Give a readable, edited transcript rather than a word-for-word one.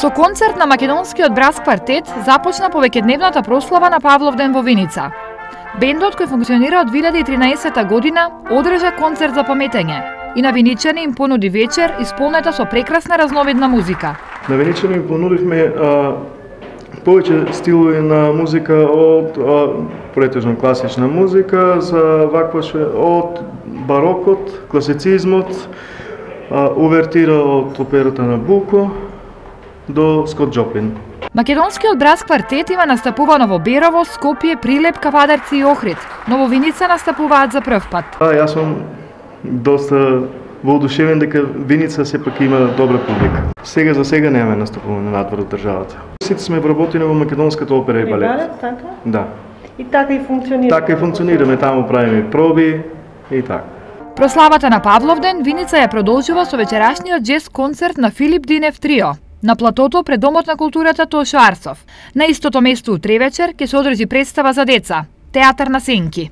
Со концерт на македонскиот брас квартет започна повеќедневната прослава на Павловден во Виница. Бендот, кој функционира од 2013 година, одржа концерт за паметење и на виничани им понуди вечер исполнета со прекрасна разновидна музика. На виничани им понудивме повеќе стилови на музика од претежно класична музика, за вакваше од барокот, класицизмот, увертира од операта на Буко до Скот Джоплин. Македонскиот брас квартет има настапувано во Берово, Скопје, Прилеп, Кавадарци и Охрид, но во Виница настапуваат за прв пат. Јас сум доста воодушевен дека Виница сепак има добра публика. Сега за сега немаме настапуване надвор од државата. Сите сме вработени во македонската опера и балет. Така? Да. И така и функционира. Така и функционираме, таму правиме проби и така. Прославата на Павловден Виница ја продолжува со вечерашниот джез концерт на Филип Динев Трио на платото пред Домот на културата Тошо Арсов. На истото место утре вечер ќе се одржи представа за деца, Театар на сенки.